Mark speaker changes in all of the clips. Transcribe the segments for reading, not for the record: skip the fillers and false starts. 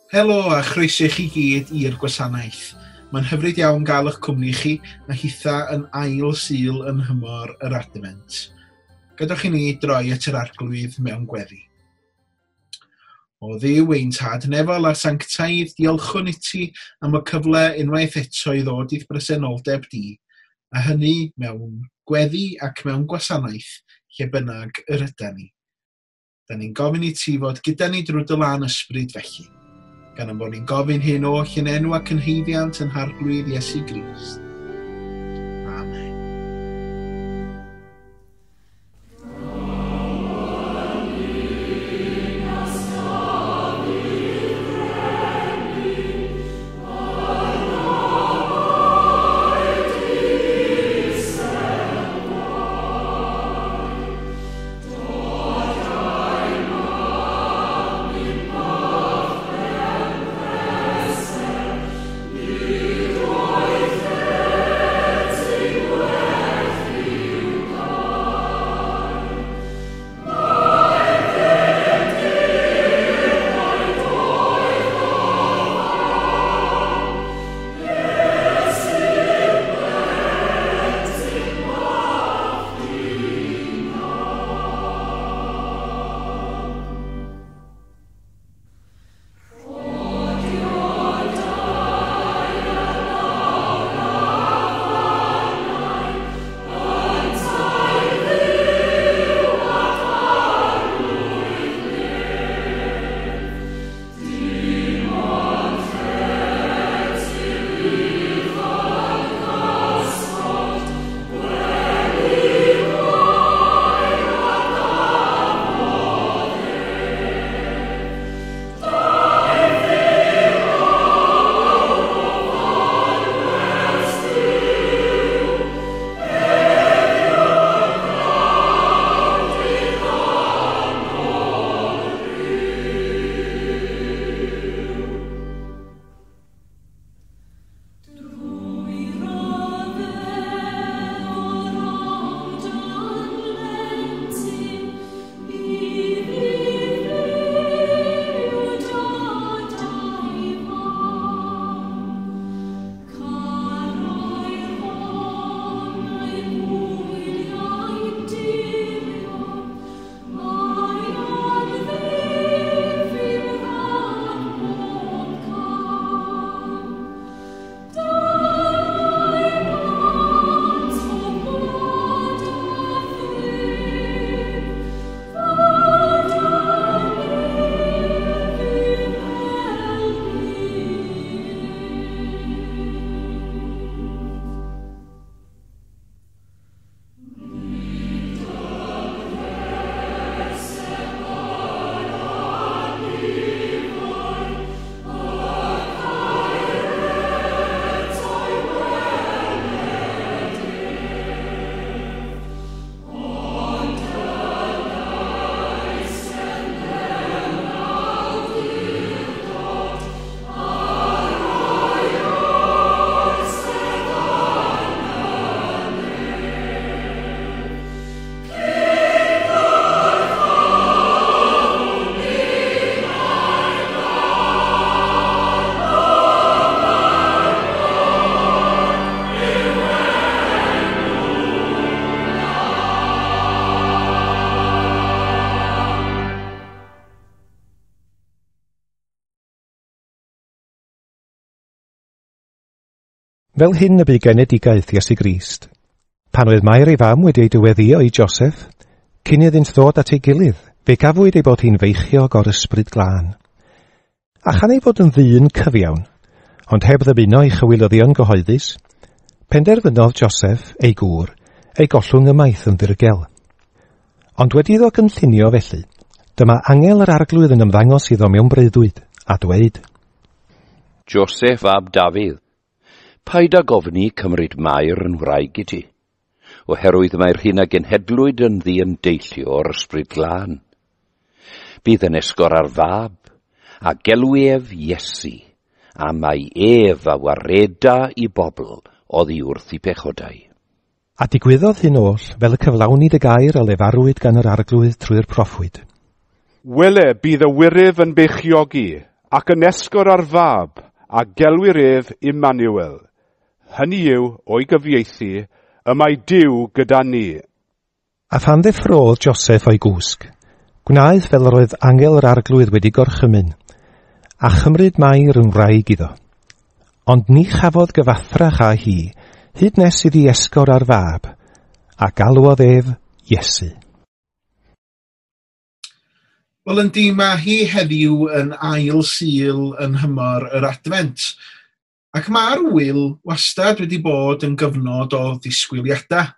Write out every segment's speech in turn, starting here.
Speaker 1: Helo a chroeso i chi gyd i'r gwasanaeth. Mae'n hyfryd iawn gael eich cwmni chi a hitha yn ail Sul yn nhymor yr Adfent. Gadewch i ni droi at yr Arglwydd mewn gweddi. O Dduw ein Tad nefol a sanctaidd, diolchwn i ti am y cyfle unwaith eto i ddod i'th bresenoldeb di, a hynny mewn gweddi ac mewn gwasanaeth lle bynnag yr ydan ni. Da ni'n gofyn i ti fod gyda ni drwy dy lân ysbryd felly, gan ein bod ni'n gofyn hyn oll yn enw ac yn haeddiant ein Harglwydd Iesu Grist. Amen.
Speaker 2: Fel hyn y bu genedigaeth Iesu Grist. Pan oedd Mair ei fam wedi ei dyweddïo i Joseph, cyn iddynt ddod at ei gilydd, fe gafwyd ei bod hi'n feichiog o'r ysbryd glân. A chan ei fod yn ddyn cyfiawn, ond heb ddymuno ei chywilyddion gyhoeddus, penderfynodd Joseph, ei gŵr, ei gollwng ymaith yn ddirgel. Ond wedi iddo gynllunio felly, dyma angel yr Arglwydd yn ymddangos iddo mewn breuddwyd, a dweud,
Speaker 3: Joseph ab Dafydd, paid ag ofni cymryd Mair yn wraig i ti, oherwydd mae'r hyn a genhedlwyd ynddi yn deillio o'r ysbryd glân. Bydd yn esgor ar fab, a gelw ef Iesu, a mae ef a wareda i bobl oddi wrth i pechodau.
Speaker 2: A digwyddodd hyn oll fel y cyflawnid y gair a lefarwyd gan yr Arglwydd trwy'r proffwyd.
Speaker 4: Wele, bydd y wyryf yn beichiogi, Ac yn esgor ar fab, a gelwir ef Immanuel. Hynny yw, o'i gyfieithu, y mae Duw gyda ni.
Speaker 2: A phan ddeffrodd Joseph o'i gwsg, gwnaeth fel yr oedd angel yr Arglwydd wedi gorchymyn, a chymryd Mair yn wraig iddo. Ond ni chafodd gyfathrach â hi, hyd nes iddi esgor ar fab, a galwodd ef Iesu.
Speaker 1: Wel, yndi, mae hi heddiw yn ail Sul yn nhymor yr Adfent. Ac mae'r ŵyl wastad wedi bod yn gyfnod o ddisgwyliadau,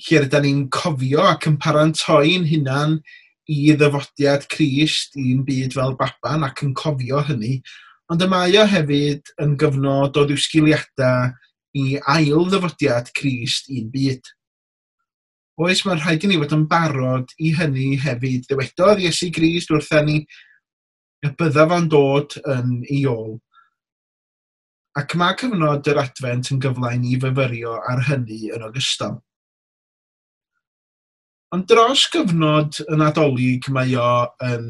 Speaker 1: lle rydyn ni'n cofio ac yn parantoi'n hunan i ddyfodiad Crist i'n byd fel baban ac yn cofio hynny, ond y mae o hefyd yn gyfnod o ddisgwyliadau i ail ddyfodiad Crist i'n byd. Oes, mae'n rhaid i ni fod yn barod i hynny hefyd. Dywedodd Iesu Grist wrtha ni y bydda fo'n dod yn ei ôl. Ac mae cyfnod yr Adfent yn gyfle i ni fyfyrio ar hynny yn ogystal. Ond dros gyfnod y Nadolig mae o yn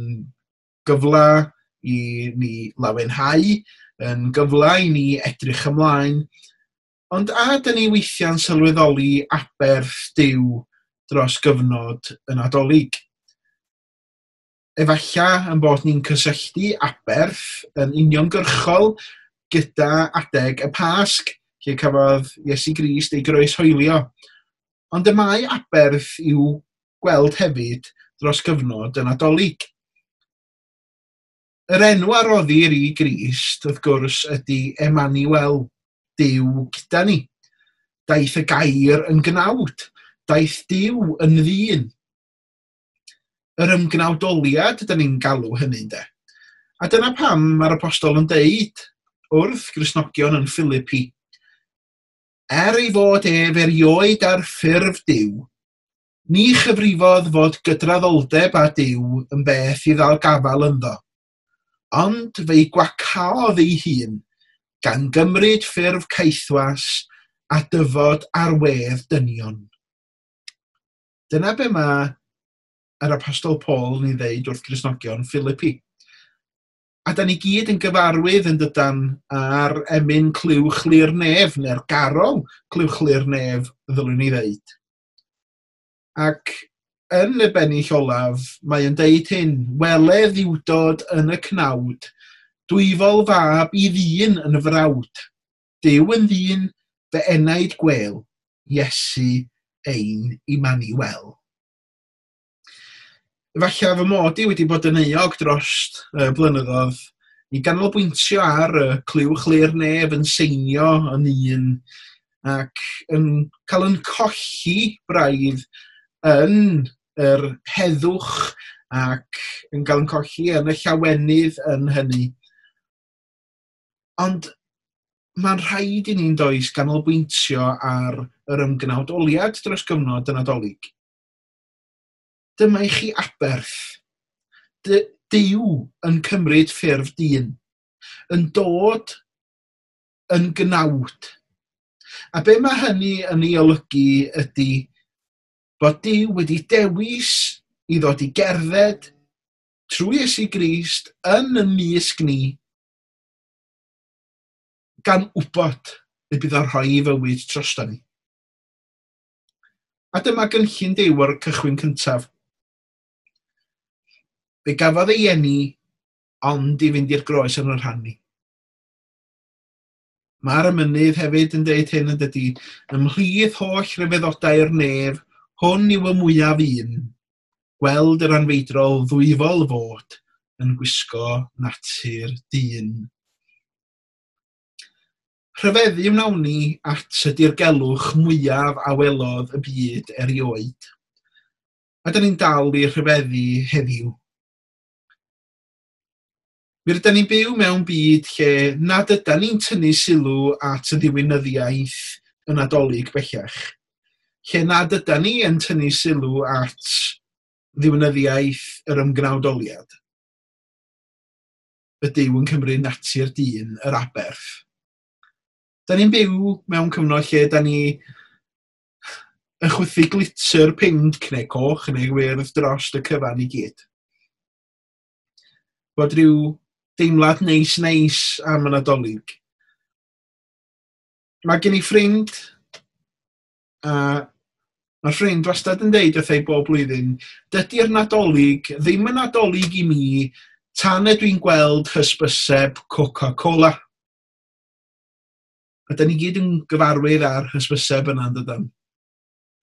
Speaker 1: gyfle i ni lawenhau, yn gyfle i ni edrych ymlaen. Ond a dyn ni weithiau'n sylweddoli aberth Duw dros gyfnod y Nadolig? Efalla yn bod ni'n cysylltu aberth yn uniongyrchol gyda adeg y Pasg, lle cafodd Iesu Grist ei groeshoelio. Ond y mae aberth i'w gweld hefyd dros gyfnod y Nadolig. Yr enw a roddir i Grist, wrth gwrs, ydy Emmanuel, Duw gyda ni. Daeth y gair yn gnawd, daeth Duw yn ddyn. Yr ymgnawdoliad, ydyn ni'n galw hynny, de. A dyna pam mae'r apostol yn deud wrth Gristnogion yn Philippi, er ei fod ef erioed ar ffurf Duw, ni chyfrifodd fod gydraddoldeb â Duw yn beth i ddal gafael ynddo, ond fe'i gwacaodd ei hun, gan gymryd ffurf caethwas a dyfod ar wedd dynion. Dyna be mae yr apostol Paul yn ei ddeud wrth Gristnogion Philippi. A da ni gyd yn gyfarwydd yn dydan ar emyn Clywch Lu'r Nef, neu'r garol Clywch Lu'r Nef, ddylwn ni ddeud. Ac yn y bennill olaf, mae yn deud hyn, wele ddiwdod yn y cnawd, dwyfol fab i ddyn yn y frawd. Duw yn ddyn, fy enaid gwel, Iesu ein Immanuel. Efallai fy mod i wedi bod yn euog dros y blynyddoedd i ganolbwyntio ar y Clywch Lu'r Nef yn seinio yn un ac yn cael yn colli braidd yn yr heddwch ac yn cael yn colli yn y llawenydd yn hynny. Ond mae'n rhaid i ni'n does ganolbwyntio ar yr ymgnawdoliad dros gyfnod y Nadolig. Dyma i chi aberth. Duw yn cymryd ffurf dyn, yn dod yn gnawd. A be mae hynny yn ei olygu ydy bod Duw wedi dewis i ddod i gerdded trwy Iesu Grist yn y mysg ni, gan wybod y bydd o'n rhoi ei fywyd drosto ni. A dyma gynllun Duw o'r cychwyn cyntaf. Fe gafodd ei eni ond i fynd i'r groes yn yr rhan ni. Mae'r emynydd hefyd yn deud hyn yn dydy, ymhlith holl ryfeddodau'r nef, hwn yw y mwyaf un, gweld yr anfeidrol ddwyfol fod yn gwisgo natur dyn. Rhyfeddu wnawn ni at y dirgelwch mwyaf a welodd y byd erioed. A dyn ni'n dal i rhyfeddu heddiw. Mi rydyn ni'n byw mewn byd lle nad ydan ni'n tynnu sylw at y ddiwinyddiaeth y Nadolig bellach. Lle nad ydan ni yn tynnu sylw at ddiwinyddiaeth yr ymgnawdoliad. Y Duw yn cymryd natur dyn yr aberth. Da ni'n byw mewn cyfnod lle da ni yn chwythu glitter pinc neu coch neu wyrdd dros y cyfan i gyd. Bod rhyw Deimlad neis neis am y Nadolig. Mae gen i ffrind, a mae'r ffrind wastad yn deud wrtha i bob blwyddyn, dydy'r Nadolig ddim yn Nadolig i mi tan ydw i'n gweld hysbyseb Coca-Cola. A da ni gyd yn gyfarwydd â'r hysbyseb yna, yn dydan?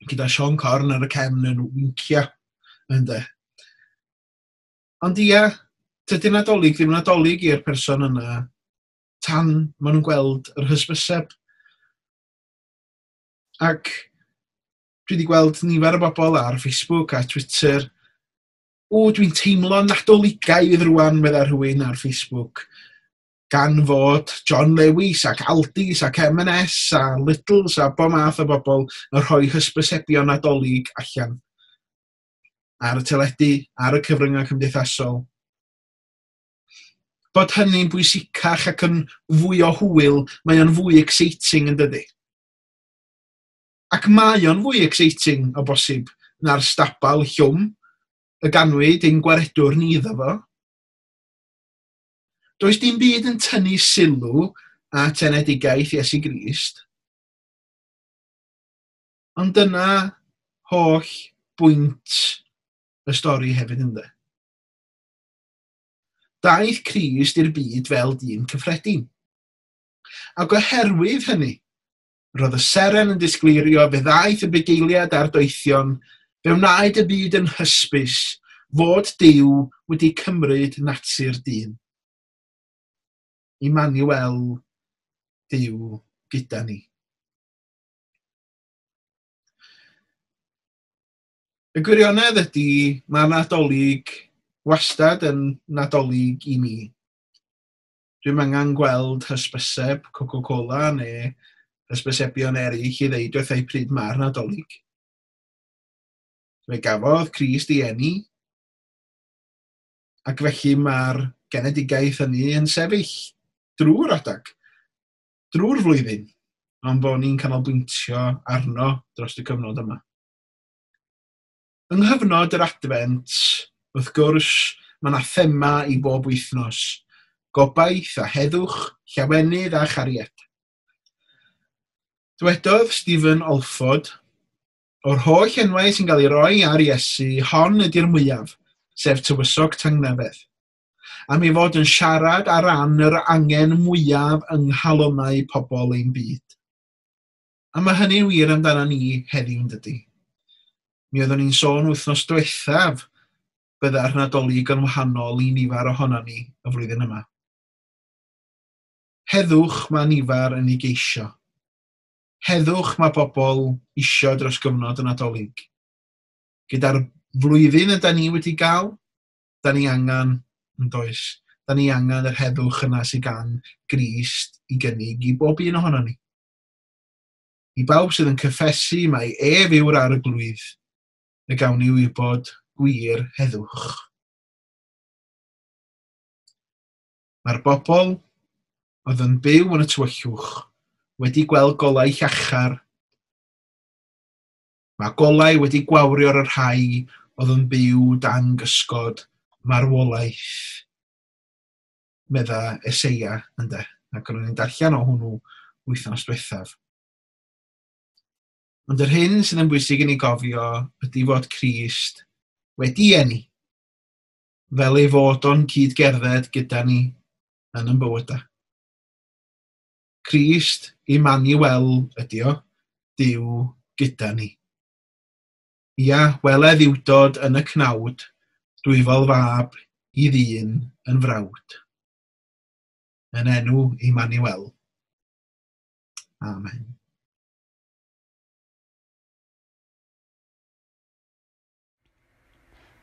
Speaker 1: Gyda Siôn Corn ar y cefn yn wincio, ynde? Ond ia, tydi'r Nadolig ddim yn Nadolig i'r person yna tan maen nhw'n gweld yr hysbyseb. Ac dwi wedi gweld nifer o bobl ar Facebook a Twitter. O, dwi'n teimlo Nadoligaidd rwan, medda rhywun ar Facebook, gan fod John Lewis ac Aldis ac M&S a Lidls a bob math o bobl yn rhoi hysbysebion Nadolig allan ar y teledu, ar y cyfryngau cymdeithasol. Bod hynny'n bwysicach ac yn fwy o hwyl, mae o'n fwy exciting, yn dydy? Ac mae o'n fwy exciting o bosib na'r stabal llwm y ganwyd ein gwaredwr ni iddo fo. Does dim byd yn tynnu sylw at enedigaeth Iesu Grist. Ond dyna holl bwynt y stori hefyd, ynde? Daeth Crist i'r byd fel dyn cyffredin. Ac oherwydd hynny, roedd y seren yn disgleirio, fe ddaeth y bugeiliad a'r doethion, fe wnaed y byd yn hysbys fod Duw wedi cymryd natur dyn. Immanuel, Duw gyda ni. Y gwirionedd ydy, mae Nadolig wastad yn Nadolig i mi. Dwi'm angen gweld hysbyseb Coca-Cola neu hysbysebion eraill i ddeud wrtha i pryd mae'r Nadolig. Fe gafodd Crist ei eni, ac felly mae'r genedigaeth hynny yn sefyll drwy'r adag, drwy'r flwyddyn, ond bod ni'n canolbwyntio arno dros y cyfnod yma. Yng nghyfnod yr Adfent, wrth gwrs, mae yna thema i bob wythnos. Gobaith a heddwch, llawenydd a chariad. Dwedodd Stephen Olford, o'r holl enwau sy'n cael ei roi ar Iesu, hon ydy'r mwyaf, sef Tywysog Tangnefedd, am ei fod yn siarad ar ran yr angen mwyaf yng nghalonnau pobl ein byd. A mae hynny'n wir amdano ni heddiw, yn dydy? Mi oeddwn ni'n sôn wythnos diwethaf bydda'r Nadolig yn wahanol i nifer ohonon ni y flwyddyn yma. Heddwch mae nifer yn ei geisio. Heddwch mae pobl isio dros gyfnod y Nadolig. Gyda'r flwyddyn yda ni wedi gael, da ni angen, yn does, da ni angen yr heddwch yna sydd gan Grist i gynnig i bob un ohonon ni. I bawb sydd yn cyffesu mai ef yw'r arglwydd, y gawn ni wybod gwir heddwch. Mae'r bobl oedd yn byw yn y tywyllwch wedi gweld golau llachar. Mae golau wedi gwawrio ar y rhai oedd yn byw dan gysgod marwolaeth, medda Eseia, ynde? Ac o'n i'n darllen o hwnnw wythnos diwethaf. Ond yr hyn sydd yn bwysig i ni gofio ydy fod Crist wedi eni, fel ei fod o'n cyd-gerdded gyda ni yn ein bywydau. Crist Immanuel ydy o, Duw gyda ni. Ia, wele ddiwdod yn y cnawd, dwyfol fab i ddyn yn frawd. Yn enw Immanuel. Amen.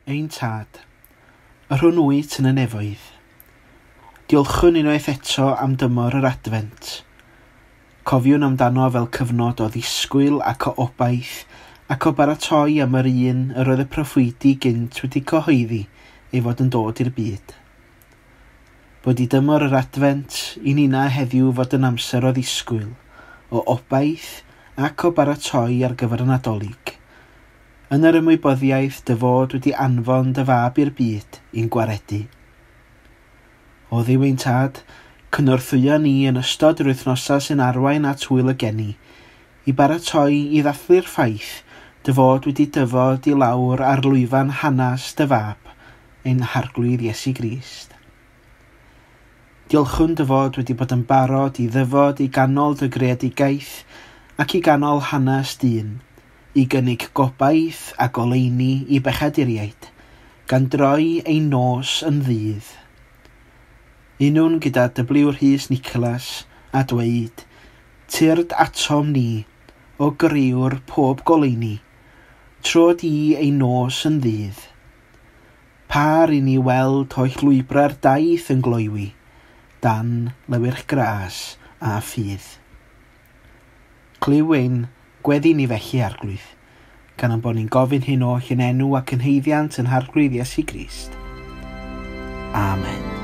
Speaker 5: Ein Tad, yr hwn wyt yn y nefoedd, diolchwn unwaith eto am dymor yr Adfent. Cofiwn amdano fel cyfnod o ddisgwyl ac o obaith ac o baratoi am yr un yr oedd y proffwydi gynt wedi cyhoeddi ei fod yn dod i'r byd. Bod i dymor yr Adfent i nina heddiw fod yn amser o ddisgwyl, o obaith ac o baratoi ar gyfer y Nadolig. Yn yr ymwybyddiaeth dy fod wedi anfon dy fab i'r byd i'n gwaredu. O Dduw ein tad, cynorthwyo ni yn ystod yr wythnosau sy'n arwain at wyl y geni, i baratoi i ddathlu'r ffaith dy fod wedi dyfod i lawr ar lwyfan hanes dy fab, ein harglwydd Iesu Grist. Diolchwn dy fod wedi bod yn barod i ddyfod i ganol dy greadigaeth ac i ganol hanes dyn, i gynnig gobaith a goleuni i bechaduriaid, gan droi ein nos yn ddydd. Unwn gyda W. Rhys Nicholas a dweud, tyrd atom ni, o griwr pob goleuni, tro di ein nos yn ddydd. Par i ni weld holl lwybrau'r daith yn gloywi, dan lewyrch gras a ffydd. Clyw ein gweddi ni felly arglwydd, gan ein bod ni'n gofyn hyn oll yn enw ac yn haeddiant yn harglwydd Iesu Grist. Amen.